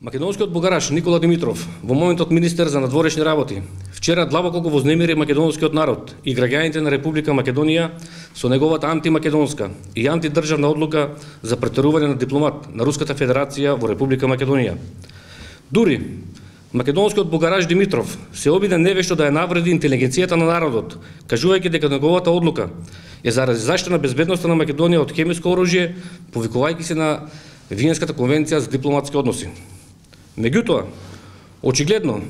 Македонскиот бугараш Никола Димитров, во моментот министер за надворешни работи, вчера длабоко го вознемири македонскиот народ и граѓаните на Република Македонија со неговата антимакедонска и антидржавна одлука за претерување на дипломат на Руската Федерација во Република Македонија. Дури македонскиот бугараш Димитров се обиде невешто да ја навреди интелигенцијата на народот, кажувајќи дека неговата одлука е заради заштита на безбедноста на Македонија од хемиско оружје, повикувајќи се на Виенската конвенција за дипломатски односи. Меѓутоа, очигледно,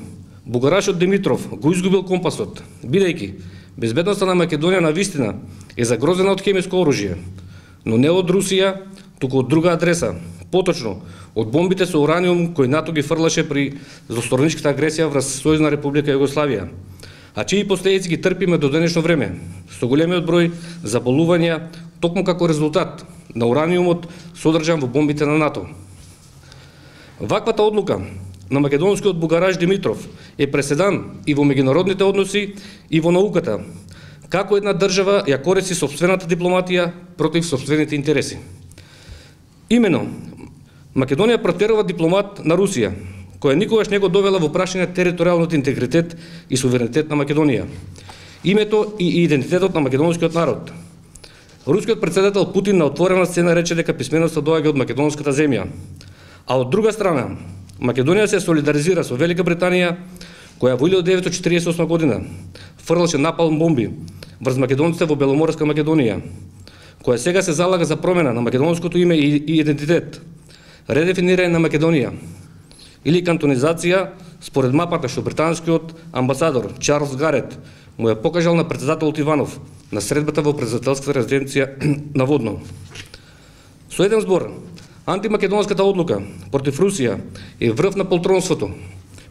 бугарашот Димитров го изгубил компасот, бидејќи безбедноста на Македонија навистина е загрозена од хемиско оружје, но не од Русија, туку од друга адреса, поточно од бомбите со ураниум кои НАТО ги фрлаше при злосторничката агресија врз Сојузна Република Југославија, а чии последици ги трпиме до денешно време, со големиот број заболувања токму како резултат на ураниумот содржан во бомбите на НАТО. Ваквата одлука на македонскиот бугараш Димитров е преседан и во меѓународните односи и во науката, како една држава ја користи сопствената дипломатија против сопствените интереси. Имено, Македонија протерува дипломат на Русија, која никогаш не го довела во прашање територијалниот интегритет и суверенитет на Македонија, името и идентитетот на македонскиот народ. Рускиот председател Путин на отворена сцена рече дека писменоста доаѓа од македонската земја, а од друга страна, Македонија се солидаризира со Велика Британија, која во 1948 година фрлаше напалм бомби врз македонците во Беломорска Македонија, која сега се залага за промена на македонското име и идентитет, редефинирање на Македонија или кантонизација според мапата што британскиот амбасадор Чарлс Гарет му ја покажал на председателот Иванов на средбата во председателската резиденција на Водно. Со еден збор, антимакедонската одлука против Русија е врв на полтронството.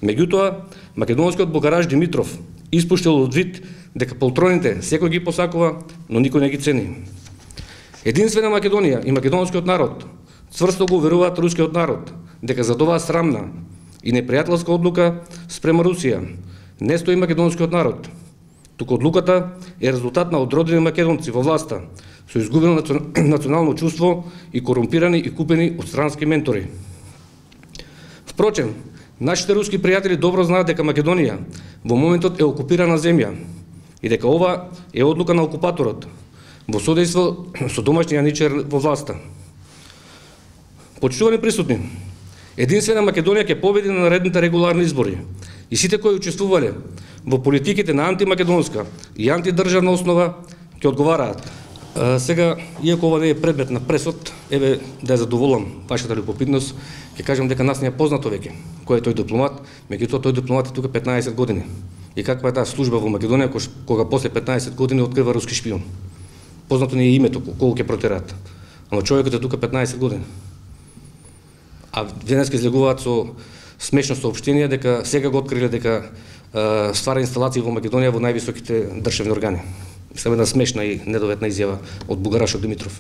Меѓутоа, македонскиот бугараш Димитров испуштил од вид дека полтроните секој ги посакува, но никој не ги цени. Единствена Македонија и македонскиот народ цврсто го уверуваат рускиот народ дека за оваа срамна и непријателска одлука спрема Русија не стои македонскиот народ, туку одлуката е резултат на одродени македонци во власта со изгубено национално чувство и корумпирани и купени од странски ментори. Впрочем, нашите руски пријатели добро знаат дека Македонија во моментот е окупирана земја и дека ова е одлука на окупаторот во содејство со домашниот јаничар во власта. Почитувани присутни, единствена Македонија ќе победи на наредните регуларни избори и сите кои учествувале во политиките на антимакедонска и антидржавна основа ќе одговараат. Сега, иако ова не е предмет на пресод, еве да ја задоволам вашата любопитност, ќе кажам дека нас не е познато веќе кој е тој дипломат, меѓутоа тој дипломат е тука 15 години. И каква е таа служба во Македонија кога после 15 години открива руски шпион. Познато не е името колку ќе протераат. Ама човекот е тука 15 години. А денеска излегуваат со смешно соопштение дека сега го откриле дека ствара инсталации во Македонија во највисоките државни органи. Само една смешна и недоветна изјава од бугарашот Димитров.